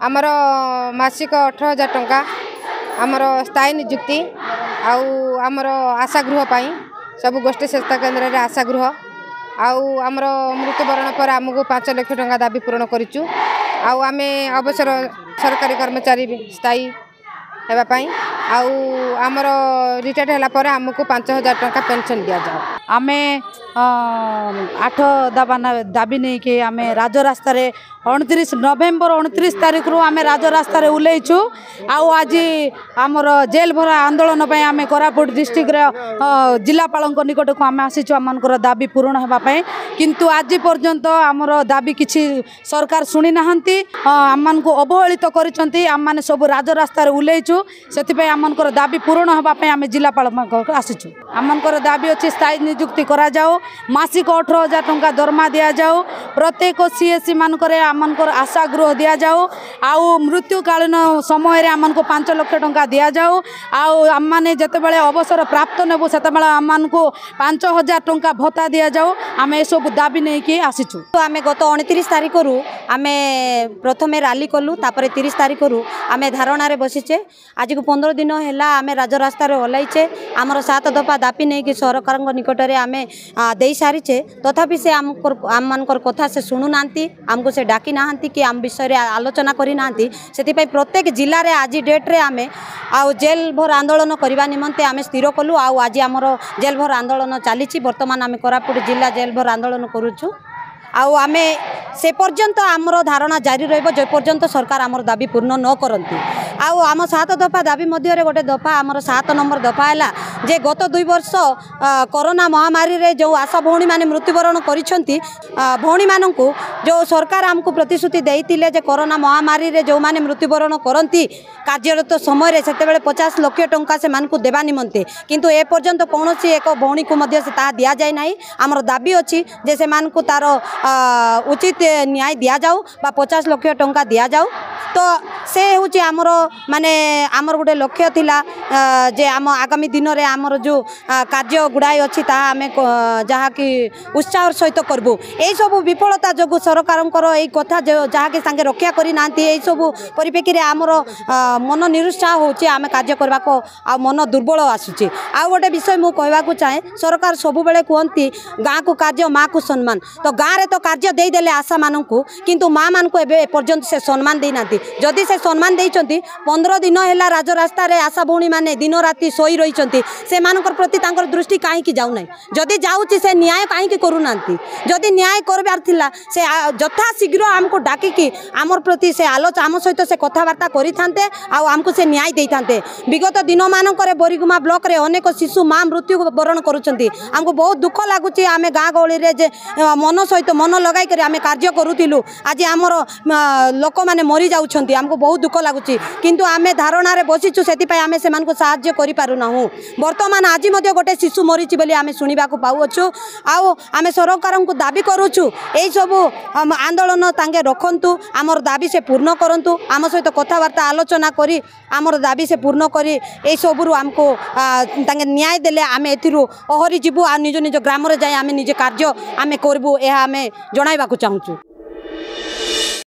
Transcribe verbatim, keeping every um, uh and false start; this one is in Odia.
ଆମର ମାସିକ ଅଠର ହଜାର ଟଙ୍କା, ଆମର ସ୍ଥାୟୀ ନିଯୁକ୍ତି, ଆଉ ଆମର ଆଶା ଗୃହ ପାଇଁ ସବୁ ଗୋଷ୍ଠୀ ସ୍ୱାସ୍ଥ୍ୟ କେନ୍ଦ୍ରରେ ଆଶା ଗୃହ, ଆଉ ଆମର ମୃତ୍ୟୁବରଣ ପରେ ଆମକୁ ପାଞ୍ଚ ଲକ୍ଷ ଟଙ୍କା ଦାବି ପୂରଣ କରିଛୁ। ଆଉ ଆମେ ଅବସର ସରକାରୀ କର୍ମଚାରୀ ସ୍ଥାୟୀ ହେବା ପାଇଁ, ଆଉ ଆମର ରିଟାୟାର୍ଡ଼ ହେଲା ପରେ ଆମକୁ ପାଞ୍ଚ ହଜାର ଟଙ୍କା ପେନ୍ସନ୍ ଦିଆଯାଉ। ଆମେ ଆଠ ଦାବା ଦାବି ନେଇକି ଆମେ ରାଜରାସ୍ତାରେ ଅଣତିରିଶ ନଭେମ୍ବର ଅଣତିରିଶ ତାରିଖରୁ ଆମେ ରାଜରାସ୍ତାରେ ଓହ୍ଲେଇଛୁ। ଆଉ ଆଜି ଆମର ଜେଲ୍ ଭରା ଆନ୍ଦୋଳନ ପାଇଁ ଆମେ କୋରାପୁଟ ଡିଷ୍ଟ୍ରିକ୍ଟର ଜିଲ୍ଲାପାଳଙ୍କ ନିକଟକୁ ଆମେ ଆସିଛୁ ଆମମାନଙ୍କର ଦାବି ପୂରଣ ହେବା ପାଇଁ। କିନ୍ତୁ ଆଜି ପର୍ଯ୍ୟନ୍ତ ଆମର ଦାବି କିଛି ସରକାର ଶୁଣି ନାହାନ୍ତି, ଆମମାନଙ୍କୁ ଅବହେଳିତ କରିଛନ୍ତି। ଆମମାନେ ସବୁ ରାଜରାସ୍ତାରେ ଓହ୍ଲେଇଛୁ, ସେଥିପାଇଁ ଆମମାନଙ୍କର ଦାବି ପୂରଣ ହେବା ପାଇଁ ଆମେ ଜିଲ୍ଲାପାଳଙ୍କ ପାଖକୁ ଆସିଛୁ। ଆମମାନଙ୍କର ଦାବି ଅଛି ସ୍ଥାୟୀ ନିଯୁକ୍ତି କରାଯାଉ, ମାସିକ ଅଠର ହଜାର ଟଙ୍କା ଦରମା ଦିଆଯାଉ, ପ୍ରତ୍ୟେକ ସି ଏସ୍ ସି ମାନଙ୍କରେ ଆମମାନଙ୍କର ଆଶା ଗୃହ ଦିଆଯାଉ, ଆଉ ମୃତ୍ୟୁକାଳୀନ ସମୟରେ ଆମମାନଙ୍କୁ ପାଞ୍ଚ ଲକ୍ଷ ଟଙ୍କା ଦିଆଯାଉ, ଆଉ ଆମମାନେ ଯେତେବେଳେ ଅବସର ପ୍ରାପ୍ତ ନେବୁ ସେତେବେଳେ ଆମମାନଙ୍କୁ ପାଞ୍ଚ ହଜାର ଟଙ୍କା ଭତ୍ତା ଦିଆଯାଉ। ଆମେ ଏସବୁ ଦାବି ନେଇକି ଆସିଛୁ। ଆମେ ଗତ ଅଣତିରିଶ ତାରିଖରୁ ଆମେ ପ୍ରଥମେ ରାଲି କଲୁ, ତାପରେ ତିରିଶ ତାରିଖରୁ ଆମେ ଧାରଣାରେ ବସିଛେ। ଆଜିକୁ ପନ୍ଦର ଦିନ ହେଲା ଆମେ ରାଜରାସ୍ତାରେ ଓହ୍ଲାଇଛେ। ଆମର ସାତ ଦଫା ଦାବି ନେଇକି ସରକାରଙ୍କ ନିକଟରେ ଆମେ ଦେଇସାରିଛେ, ତଥାପି ସେ ଆମକୁ ଆମମାନଙ୍କର କଥା ସେ ଶୁଣୁନାହାନ୍ତି, ଆମକୁ ସେ ଡାକି ନାହାନ୍ତି କି ଆମ ବିଷୟରେ ଆଲୋଚନା କରିନାହାନ୍ତି। ସେଥିପାଇଁ ପ୍ରତ୍ୟେକ ଜିଲ୍ଲାରେ ଆଜି ଡେଟ୍ରେ ଆମେ ଆଉ ଜେଲ୍ ଭର ଆନ୍ଦୋଳନ କରିବା ନିମନ୍ତେ ଆମେ ସ୍ଥିର କଲୁ। ଆଉ ଆଜି ଆମର ଜେଲ୍ ଭର ଆନ୍ଦୋଳନ ଚାଲିଛି। ବର୍ତ୍ତମାନ ଆମେ କୋରାପୁଟ ଜିଲ୍ଲା ଜେଲ୍ ଭର ଆନ୍ଦୋଳନ କରୁଛୁ। ଆଉ ଆମେ ସେ ପର୍ଯ୍ୟନ୍ତ ଆମର ଧାରଣା ଜାରି ରହିବ ଯେପର୍ଯ୍ୟନ୍ତ ସରକାର ଆମର ଦାବି ପୂର୍ଣ୍ଣ ନ କରନ୍ତି। ଆଉ ଆମ ସାତ ଦଫା ଦାବି ମଧ୍ୟରେ ଗୋଟେ ଦଫା ଆମର ସାତ ନମ୍ବର ଦଫା ହେଲା ଯେ ଗତ ଦୁଇ ବର୍ଷ କରୋନା ମହାମାରୀରେ ଯେଉଁ ଆଶା ଭଉଣୀମାନେ ମୃତ୍ୟୁବରଣ କରିଛନ୍ତି, ଭଉଣୀମାନଙ୍କୁ ଯେଉଁ ସରକାର ଆମକୁ ପ୍ରତିଶ୍ରୁତି ଦେଇଥିଲେ ଯେ କରୋନା ମହାମାରୀରେ ଯେଉଁମାନେ ମୃତ୍ୟୁବରଣ କରନ୍ତି କାର୍ଯ୍ୟରତ ସମୟରେ ସେତେବେଳେ ପଚାଶ ଲକ୍ଷ ଟଙ୍କା ସେମାନଙ୍କୁ ଦେବା ନିମନ୍ତେ, କିନ୍ତୁ ଏପର୍ଯ୍ୟନ୍ତ କୌଣସି ଏକ ଭଉଣୀକୁ ମଧ୍ୟ ସେ ତାହା ଦିଆଯାଇ ନାହିଁ। ଆମର ଦାବି ଅଛି ଯେ ସେମାନଙ୍କୁ ତା'ର ଉଚିତ ନ୍ୟାୟ ଦିଆଯାଉ ବା ପଚାଶ ଲକ୍ଷ ଟଙ୍କା ଦିଆଯାଉ। ତ ସେ ହେଉଛି ଆମର ମାନେ ଆମର ଗୋଟେ ଲକ୍ଷ୍ୟ ଥିଲା ଯେ ଆମ ଆଗାମୀ ଦିନରେ ଆମର ଯେଉଁ କାର୍ଯ୍ୟ ଗୁଡ଼ାଏ ଅଛି ତାହା ଆମେ ଯାହାକି ଉତ୍ସାହର ସହିତ କରିବୁ। ଏଇସବୁ ବିଫଳତା ଯୋଗୁଁ ସରକାରଙ୍କର ଏଇ କଥା ଯାହାକି ସାଙ୍ଗେ ରକ୍ଷା କରିନାହାନ୍ତି, ଏଇସବୁ ପରିପ୍ରେକ୍ଷୀରେ ଆମର ମନ ନିରୁତ୍ସାହ ହେଉଛି, ଆମେ କାର୍ଯ୍ୟ କରିବାକୁ ଆଉ ମନ ଦୁର୍ବଳ ଆସୁଛି। ଆଉ ଗୋଟେ ବିଷୟ ମୁଁ କହିବାକୁ ଚାହେଁ, ସରକାର ସବୁବେଳେ କୁହନ୍ତି ଗାଁକୁ କାର୍ଯ୍ୟ ମାଆକୁ ସମ୍ମାନ। ତ ଗାଁରେ ତ କାର୍ଯ୍ୟ ଦେଇଦେଲେ ଆଶାମାନଙ୍କୁ, କିନ୍ତୁ ମାଆମାନଙ୍କୁ ଏବେ ଏପର୍ଯ୍ୟନ୍ତ ସେ ସମ୍ମାନ ଦେଇନାହାନ୍ତି। ଯଦି ସେ ସମ୍ମାନ ଦେଇଛନ୍ତି, ପନ୍ଦର ଦିନ ହେଲା ରାଜରାସ୍ତାରେ ଆଶା ଭଉଣୀମାନେ ଦିନ ରାତି ଶୋଇ ରହିଛନ୍ତି, ସେମାନଙ୍କର ପ୍ରତି ତାଙ୍କର ଦୃଷ୍ଟି କାହିଁକି ଯାଉନାହିଁ? ଯଦି ଯାଉଛି ସେ ନ୍ୟାୟ କାହିଁକି କରୁନାହାନ୍ତି? ଯଦି ନ୍ୟାୟ କରିବାର ଥିଲା ସେ ଯଥାଶୀଘ୍ର ଆମକୁ ଡାକିକି ଆମର ପ୍ରତି ସେ ଆଲୋଚନା ଆମ ସହିତ ସେ କଥାବାର୍ତ୍ତା କରିଥାନ୍ତେ ଆଉ ଆମକୁ ସେ ନ୍ୟାୟ ଦେଇଥାନ୍ତେ। ବିଗତ ଦିନମାନଙ୍କରେ ବୋରିଗୁମା ବ୍ଲକରେ ଅନେକ ଶିଶୁ ମା ମୃତ୍ୟୁବରଣ କରୁଛନ୍ତି। ଆମକୁ ବହୁତ ଦୁଃଖ ଲାଗୁଛି। ଆମେ ଗାଁ ଗହଳିରେ ଯେ ମନ ସହିତ ମନ ଲଗାଇକରି ଆମେ କାର୍ଯ୍ୟ କରୁଥିଲୁ, ଆଜି ଆମର ଲୋକମାନେ ମରିଯାଉଛନ୍ତି, ଆମକୁ ବହୁତ ଦୁଃଖ ଲାଗୁଛି। କିନ୍ତୁ ଆମେ ଧାରଣାରେ ବସିଛୁ, ସେଥିପାଇଁ ଆମେ ସେମାନଙ୍କୁ ସାହାଯ୍ୟ କରିପାରୁନାହୁଁ। ବର୍ତ୍ତମାନ ଆଜି ମଧ୍ୟ ଗୋଟେ ଶିଶୁ ମରିଛି ବୋଲି ଆମେ ଶୁଣିବାକୁ ପାଉଅଛୁ। ଆଉ ଆମେ ସରକାରଙ୍କୁ ଦାବି କରୁଛୁ ଏଇସବୁ ଆନ୍ଦୋଳନ ତାଙ୍କେ ରଖନ୍ତୁ, ଆମର ଦାବି ସେ ପୂର୍ଣ୍ଣ କରନ୍ତୁ, ଆମ ସହିତ କଥାବାର୍ତ୍ତା ଆଲୋଚନା କରି ଆମର ଦାବି ସେ ପୂର୍ଣ୍ଣ କରି ଏଇସବୁରୁ ଆମକୁ ତାଙ୍କେ ନ୍ୟାୟ ଦେଲେ ଆମେ ଏଥିରୁ ଓହରି ଯିବୁ ଆଉ ନିଜ ନିଜ ଗ୍ରାମରେ ଯାଇ ଆମେ ନିଜେ କାର୍ଯ୍ୟ ଆମେ କରିବୁ, ଏହା ଆମେ ଜଣାଇବାକୁ ଚାହୁଁଛୁ।